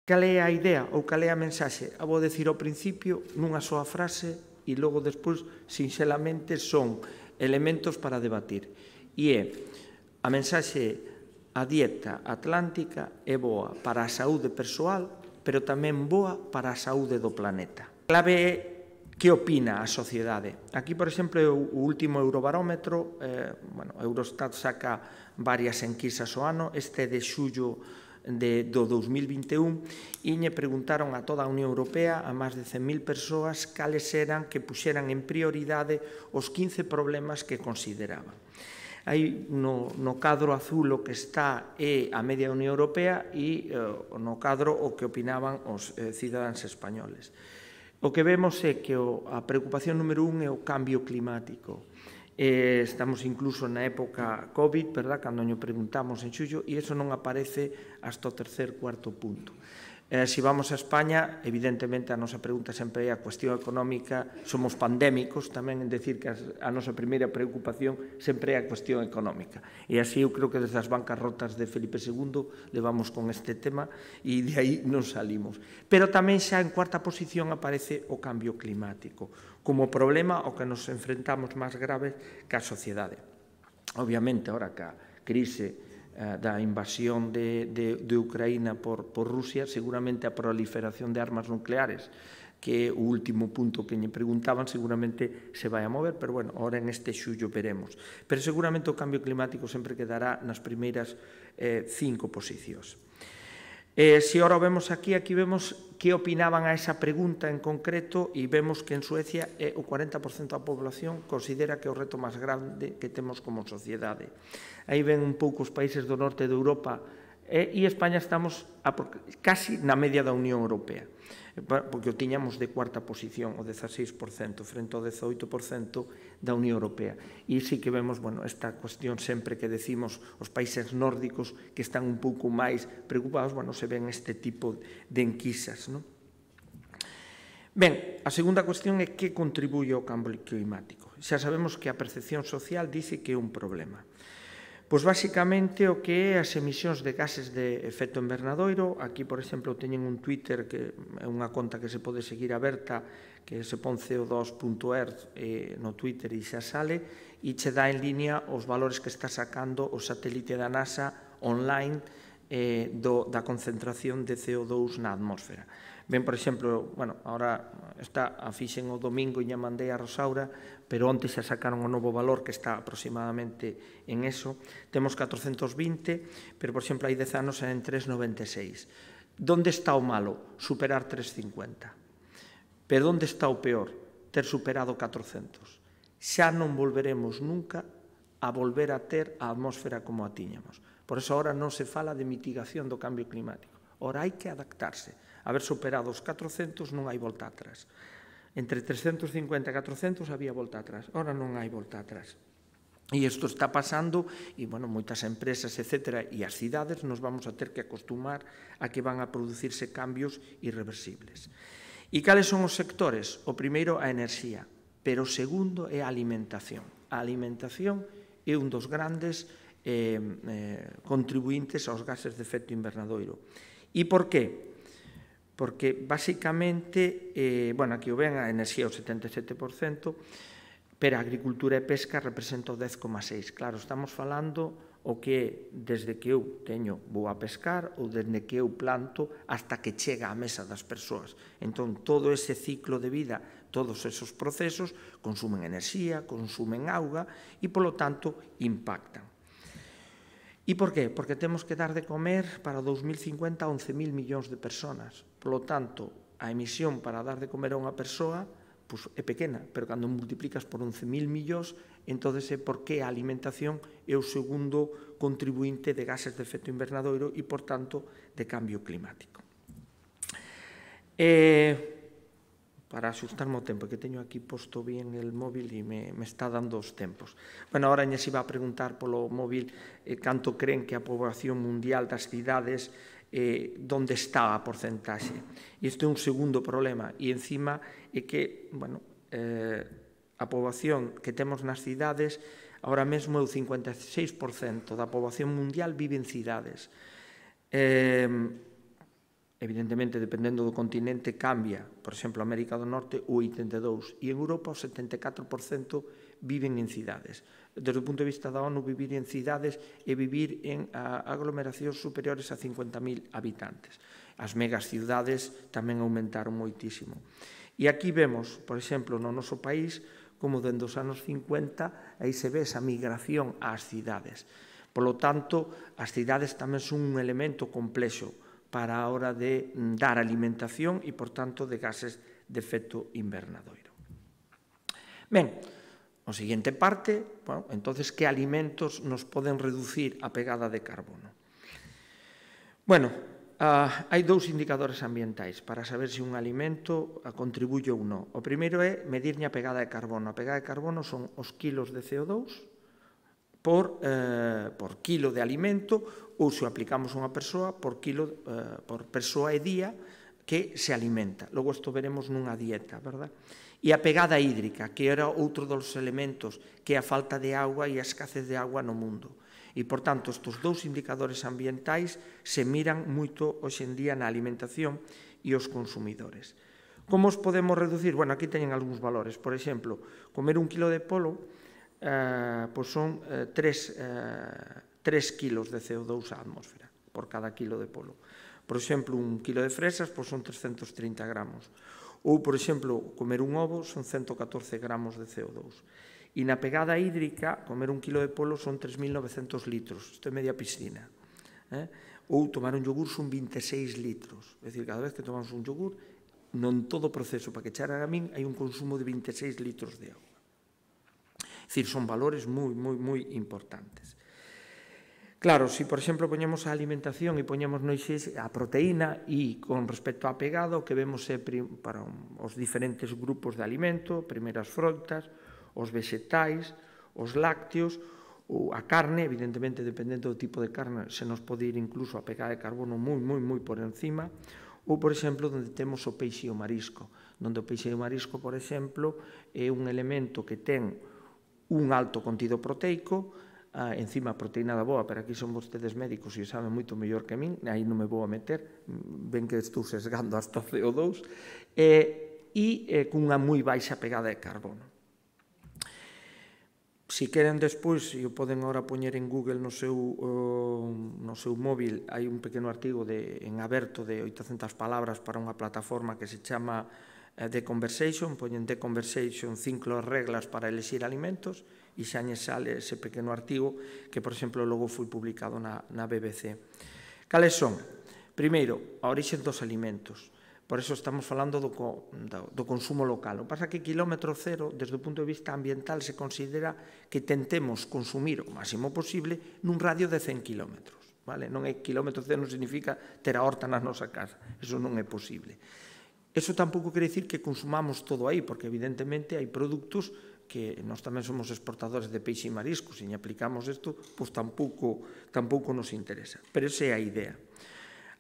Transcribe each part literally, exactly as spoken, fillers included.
Cal é a idea ou cal é a mensaxe? A vou decir ao principio nunha soa frase e logo despois, sinxelamente, son elementos para debatir. E é, a mensaxe, a dieta atlántica é boa para a saúde persoal, pero tamén boa para a saúde do planeta. A clave é que opina a sociedade. Aquí, por exemplo, o último Eurobarómetro, eh, bueno, Eurostat saca varias enquisas ao ano, este é de xullo de, do dos mil vinte e un, e lle preguntaron a toda a Unión Europea, a máis de cen mil persoas, cales eran que puxeran en prioridade os quince problemas que consideraban. Aí no, no cadro azul o que está é a media da Unión Europea e eh, no cadro o que opinaban os eh, cidadáns españoles. O que vemos é que o, a preocupación número un é o cambio climático. Eh, estamos incluso na época COVID, verdad, cando nos preguntamos en xullo, e iso non aparece hasta o tercer, cuarto punto. Eh, se vamos a España, evidentemente a nosa pregunta sempre é a cuestión económica, somos pandémicos tamén en decir que a nosa primeira preocupación sempre é a cuestión económica. E así eu creo que desde as bancarrotas de Felipe segundo levamos con este tema e de aí non salimos. Pero tamén xa en cuarta posición aparece o cambio climático como problema ao que nos enfrentamos máis grave que a sociedade. Obviamente, ahora que a crise da invasión de, de, de Ucraína por, por Rusia, seguramente a proliferación de armas nucleares, que é o último punto que lle preguntaban, seguramente se vai a mover, pero bueno, ahora en este xullo veremos. Pero seguramente o cambio climático sempre quedará nas primeiras eh, cinco posicións. Eh, se ahora vemos aquí, aquí vemos que opinaban a esa pregunta en concreto e vemos que en Suecia eh, o cuarenta por cento da población considera que é o reto máis grande que temos como sociedade. Aí ven un pouco os países do norte de Europa eh, e España estamos a, casi na media da Unión Europea, porque o tiñamos de cuarta posición, o dezaseis por cento, frente ao dezoito por cento da Unión Europea. E sí que vemos, bueno, esta cuestión sempre que decimos os países nórdicos que están un pouco máis preocupados, bueno, se ven este tipo de enquisas, non? Ben, a segunda cuestión é que contribuye ao cambio climático. Xa sabemos que a percepción social dice que é un problema. Pois, basicamente, o que é as emisións de gases de efecto invernadoiro. Aquí, por exemplo, teñen un Twitter que é unha conta que se pode seguir aberta, que se pon C O dos punto earth eh, no Twitter e xa sale, e che dá en línea os valores que está sacando o satélite da NASA online eh, do, da concentración de C O dos na atmósfera. Ben, por exemplo, bueno, ahora está a fixen o domingo e lle mandei a Rosaura, pero onte xa sacaron o novo valor que está aproximadamente en eso. Temos catrocentos vinte, pero, por exemplo, hai dez anos en tres coma noventa e seis. Donde está o malo? Superar tres coma cincuenta. Pero onde está o peor? Ter superado catrocentos. Xa non volveremos nunca a volver a ter a atmósfera como a tiñamos. Por eso ahora non se fala de mitigación do cambio climático. Ora hai que adaptarse. Haber superado os catrocentos non hai volta atrás. Entre trescentos cincuenta e catrocentos había volta atrás. Ora non hai volta atrás. E isto está pasando e, bueno, moitas empresas, etcétera, e as cidades nos vamos a ter que acostumar a que van a producirse cambios irreversibles. E cales son os sectores? O primeiro, a enerxía, pero o segundo é a alimentación. A alimentación é un dos grandes eh, eh, contribuintes aos gases de efecto invernadoiro. E por qué? Porque, basicamente, eh, bueno, aquí o ven, a enerxía o setenta e sete por cento, pero a agricultura e pesca representa o dez coma seis por cento. Claro, estamos falando o que é desde que eu teño, vou a pescar, ou desde que eu planto, hasta que chega á mesa das persoas. Entón, todo ese ciclo de vida, todos esos procesos, consumen enerxía, consumen auga e, polo tanto, impactan. E por qué? Porque temos que dar de comer para o dos mil cincuenta a once mil millóns de personas. Por lo tanto, a emisión para dar de comer a unha persoa pues, é pequena, pero cando multiplicas por once mil millóns, entón é porque a alimentación é o segundo contribuinte de gases de efecto invernadoiro e, por tanto, de cambio climático. Eh, para axustarme o tempo, que teño aquí posto bien el móvil e me, me está dando os tempos. Bueno, ahora se iba a preguntar polo móvil eh, canto creen que a poboación mundial das cidades eh, donde está a porcentaxe. E isto é un segundo problema, e encima é que, bueno, eh, a poboación que temos nas cidades, ahora mesmo é o cincuenta e seis por cento da poboación mundial vive en cidades. Eh, evidentemente, dependendo do continente, cambia. Por exemplo, América do Norte, o oitenta e dous por cento, e en Europa o setenta e catro por cento viven en cidades. Desde o punto de vista da ONU, vivir en cidades é vivir en aglomeracións superiores a cincuenta mil habitantes. As megas cidades tamén aumentaron moitísimo. E aquí vemos, por exemplo, no noso país, como dende os anos cincuenta, aí se ve esa migración ás cidades. Por lo tanto, as cidades tamén son un elemento complexo para a hora de dar alimentación e, por tanto, de gases de efecto invernadoiro. Ben, a seguinte parte, bueno, entonces, que alimentos nos poden reducir a pegada de carbono? Bueno, uh, hai dous indicadores ambientais para saber se un alimento contribuye ou non. O primeiro é medirlle a pegada de carbono. A pegada de carbono son os kilos de C O dous por, eh, por kilo de alimento, ou se o aplicamos a unha persoa, por, kilo, eh, por persoa e día que se alimenta. Logo isto veremos nunha dieta, verdad? E a pegada hídrica, que era outro dos elementos, que é a falta de agua e a escasez de agua no mundo. E, por tanto, estes dous indicadores ambientais se miran moito hoxe en día na alimentación e os consumidores. Como os podemos reducir? Bueno, aquí teñen algúns valores. Por exemplo, comer un kilo de polo eh, pois son eh, tres, eh, tres kilos de C O dous á atmósfera por cada kilo de polo. Por exemplo, un kilo de fresas pois son trescentos trinta gramos. Ou, por exemplo, comer un ovo son ciento catorce gramos de C O dous. E na pegada hídrica, comer un kilo de polo son tres mil novecentos litros. Isto é media piscina. Eh? Ou tomar un yogur son veintiséis litros. É dicir, cada vez que tomamos un yogur, non todo o proceso para que echara a min, hai un consumo de veintiséis litros de agua. É dicir, son valores moi, moi, moi importantes. Claro, se, por exemplo, poñemos a alimentación e poñemos no eixe a proteína e con respecto á pegada, o que vemos é para os diferentes grupos de alimento, primeiro as froitas, os vegetais, os lácteos, a carne, evidentemente, dependendo do tipo de carne, se nos pode ir incluso a pegada de carbono moi, moi, moi por encima, ou, por exemplo, onde temos o peixe e o marisco, onde o peixe e o marisco, por exemplo, é un elemento que ten un alto contido proteico, ah, encima a proteína da boa, pero aquí son vostedes médicos e saben moito mellor que min, aí non me vou a meter, ven que estou sesgando hasta o C O dous, e, e eh, cunha moi baixa pegada de carbono. Se queren despois, e o poden agora poñer en Google no seu, uh, no seu móvil, hai un pequeno artigo de, en aberto de oitocentas palabras para unha plataforma que se chama uh, The Conversation, poñen The Conversation, cinco reglas para elexir alimentos, e xa lle sale ese pequeno artigo que, por exemplo, logo foi publicado na, na B B C. Cales son? Primeiro, a orixe dos alimentos. Por eso estamos falando do, do, do consumo local. O que pasa é que quilómetro cero, desde o punto de vista ambiental, se considera que tentemos consumir o máximo posible nun radio de cen kilómetros. Vale? Non é quilómetro cero, non significa ter a horta na nosa casa. Eso non é posible. Eso tampouco quere dicir que consumamos todo aí, porque evidentemente hai produtos que nós tamén somos exportadores de peixe e marisco, se lle aplicamos isto, pois tampouco, tampouco nos interesa. Pero esa é a idea.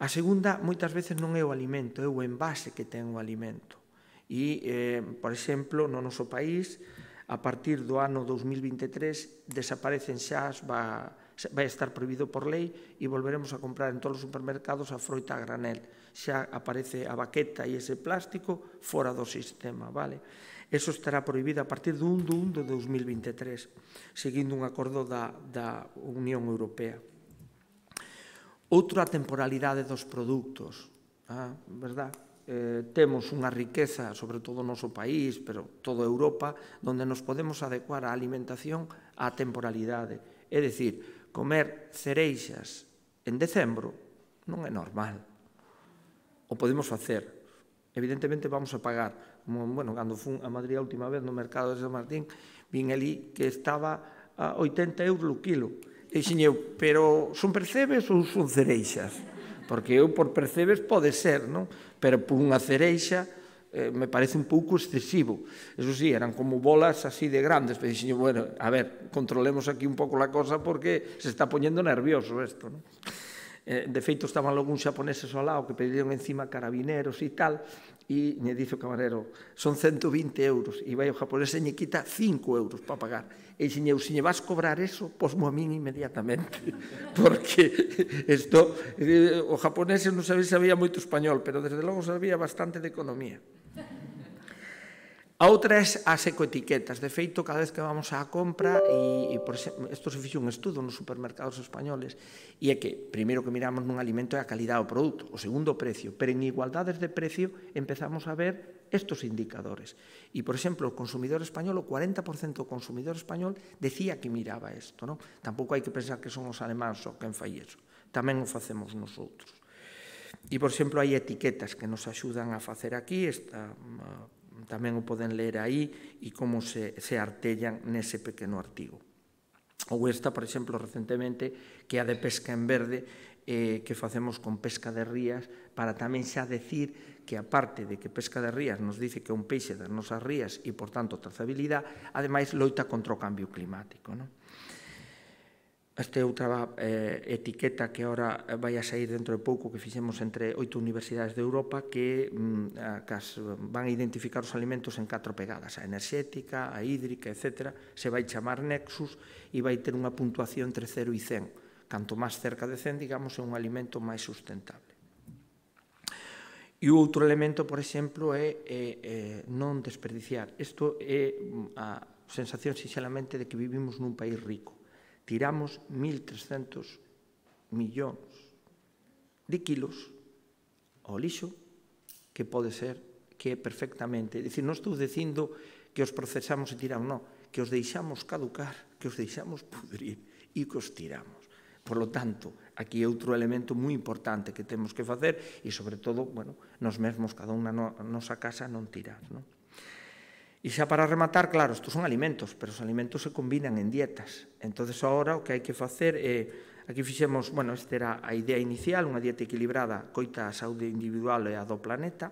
A segunda, moitas veces non é o alimento, é o envase que ten o alimento. E, eh, por exemplo, no noso país, a partir do ano dos mil vinte e tres, desaparecen xa, va, vai estar prohibido por lei e volveremos a comprar en todos os supermercados a froita a granel. Xa aparece a baqueta e ese plástico fora do sistema, vale? Eso estará prohibido a partir do un de un de dos mil vinte e tres, seguindo un acordo da, da Unión Europea. Outra, a temporalidade dos produtos, ah, verdad? Eh, temos unha riqueza, sobre todo no noso país, pero toda Europa, onde nos podemos adecuar a alimentación á temporalidade. É dicir, comer cereixas en decembro non é normal. O podemos facer. Evidentemente vamos a pagar. Como, bueno, cando fun a Madrid a última vez no mercado de San Martín, vin ali que estaba a oitenta euros o kilo. E dixen eu, pero son percebes ou son cereixas? Porque eu por percebes pode ser, non? Pero por unha cereixa eh, me parece un pouco excesivo. Eso sí, eran como bolas así de grandes. Pero dixen eu, bueno, a ver, controlemos aquí un pouco la cosa porque se está poñendo nervioso isto, non? Eh, de feito, estaban algúns xaponeses ao lado que pediron encima carabineros e tal, e me dice o camarero, son ciento vinte euros, e vai o japonés e lle quita cinco euros para pagar. E dixen, se lle vas cobrar eso, posmo a min inmediatamente, porque isto, o japonés non sabía moito español, pero desde logo sabía bastante de economía. A outra é as ecoetiquetas. De feito, cada vez que vamos á compra, e, e por exemplo, isto se fixe un estudo nos supermercados españoles, e é que, primeiro que miramos nun alimento é a calidade do produto, o segundo o precio, pero en igualdades de precio empezamos a ver estos indicadores. E, por exemplo, o consumidor español, o cuarenta por cento do consumidor español decía que miraba isto, non? Tampouco hai que pensar que son os alemáns só quen fai iso, tamén o facemos nosotros. E, por exemplo, hai etiquetas que nos axudan a facer aquí, esta tamén o poden ler aí, e como se, se artellan nese pequeno artigo. Ou esta, por exemplo, recentemente, que é a de pesca en verde, eh, que facemos con pesca de rías, para tamén xa decir que, aparte de que pesca de rías nos dice que é un peixe das nosas rías e, por tanto, trazabilidade, ademais, loita contra o cambio climático, non? Esta é outra eh, etiqueta que agora vai a sair dentro de pouco, que fixemos entre oito universidades de Europa, que, mm, que as, van a identificar os alimentos en catro pegadas, a enerxética, a hídrica, etcétera. Se vai chamar Nexus e vai ter unha puntuación entre cero e cen. Canto máis cerca de cen, digamos, é un alimento máis sustentable. E o outro elemento, por exemplo, é, é, é non desperdiciar. Isto é a sensación, sinceramente, de que vivimos nun país rico. Tiramos mil trescentos millóns de kilos ao lixo, que pode ser que é perfectamente, é dicir, non estou dicindo que os procesamos e tiramos, non, que os deixamos caducar, que os deixamos pudrir e que os tiramos. Por lo tanto, aquí é outro elemento moi importante que temos que facer e, sobre todo, bueno, nos mesmos, cada unha na nosa casa, non tirar, non? E xa para rematar, claro, estos son alimentos, pero os alimentos se combinan en dietas. Entón, agora, o que hai que facer é, aquí fixemos, bueno, esta era a idea inicial, unha dieta equilibrada, coita a saúde individual e a do planeta,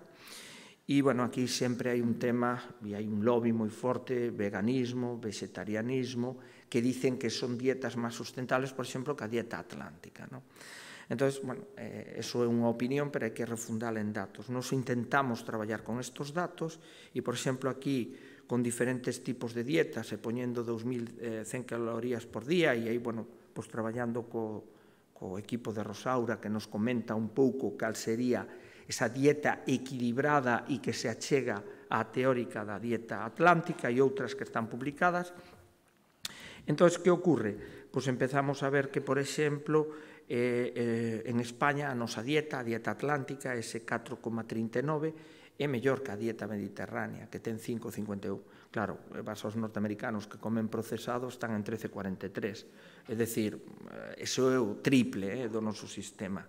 e, bueno, aquí sempre hai un tema, e hai un lobby moi forte, veganismo, vegetarianismo, que dicen que son dietas máis sustentables, por exemplo, que a dieta atlántica, non? Entón, bueno, eh, eso é unha opinión, pero hai que refundala en datos. Nos intentamos traballar con estos datos e, por exemplo, aquí, con diferentes tipos de dietas, e poñendo dos mil cen calorías por día, e aí, bueno, pues traballando co, co equipo de Rosaura, que nos comenta un pouco cal sería esa dieta equilibrada e que se achega á teórica da dieta atlántica e outras que están publicadas. Entón, que ocorre? Pois empezamos a ver que, por exemplo, Eh, eh, en España a nosa dieta, a dieta atlántica, ese catro coma trinta e nove, é mellor que a dieta mediterránea, que ten cinco coma cincuenta e un. Claro, vas aos norteamericanos que comen procesado, están en trece coma cuarenta e tres. É dicir, eso é o triple eh, do noso sistema.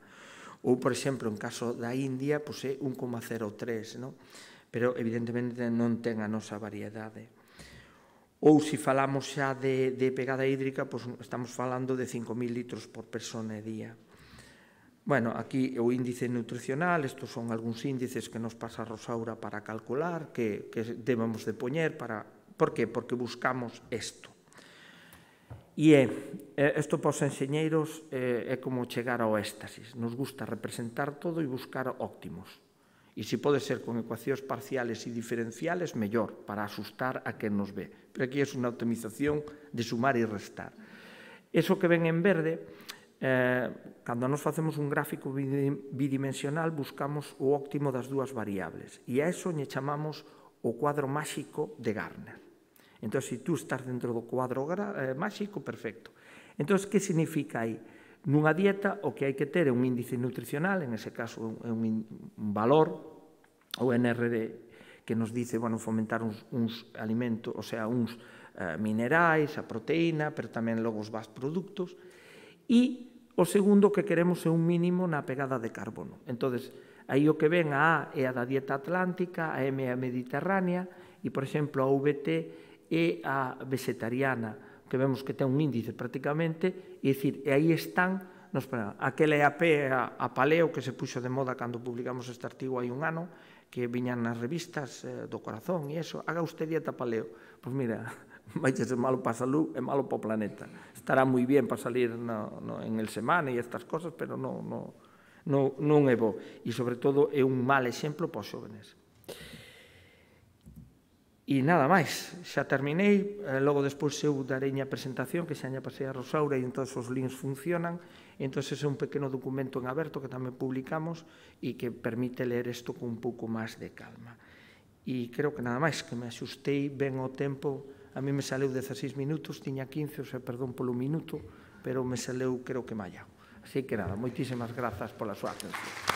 Ou, por exemplo, en caso da India, pois é un coma cero tres, non? Pero, evidentemente, non ten a nosa variedade. Ou, se falamos xa de, de pegada hídrica, pois estamos falando de cinco mil litros por persona e día. Bueno, aquí o índice nutricional, estos son algúns índices que nos pasa a Rosaura para calcular, que, que debemos de poñer para... Por que? Porque buscamos isto. E é, isto para os enxeñeiros é como chegar ao éxtasis. Nos gusta representar todo e buscar óptimos. E se pode ser con ecuacións parciales e diferenciales, mellor, para asustar a quen nos ve. Pero aquí é unha optimización de sumar e restar. Eso que ven en verde, eh, cando nos facemos un gráfico bidimensional, buscamos o óptimo das dúas variables. E a eso lle chamamos o cuadro máxico de Gartner. Entón, se tú estás dentro do cuadro eh, máxico, perfecto. Entón, que significa aí? Nunha dieta, o que hai que ter é un índice nutricional, en ese caso é un, un valor, o N R D, que nos dice, bueno, fomentar uns, uns alimentos, o sea, uns eh, minerais, a proteína, pero tamén logo os vas produtos, e o segundo que queremos é un mínimo na pegada de carbono. Entón, aí o que ven, a A é a da dieta atlántica, a M é a mediterránea, e, por exemplo, a V T é a vegetariana, que vemos que ten un índice prácticamente, e dicir, e aí están, nos, aquela é a P, a, a paleo, que se puxo de moda cando publicamos este artigo hai un ano, que viñan nas revistas eh, do corazón e eso, haga usted dieta paleo. Pois mira, vai ser malo para a salud e malo para o planeta. Estará moi bien para salir no, no, en el semana e estas cosas, pero non, non, non, non é bo. E, sobre todo, é un mal exemplo para os xóvenes. E nada máis, xa terminei, logo despois eu darei a presentación que xa lle pasei a Rosaura e entón os links funcionan, e entón é un pequeno documento en aberto que tamén publicamos e que permite ler isto con un pouco máis de calma. E creo que nada máis, que me axustei ben ao tempo, a mí me saleu dezaseis minutos, tiña quince, o sea, perdón polo minuto, pero me saleu creo que mallado. Así que nada, moitísimas grazas pola súa atención.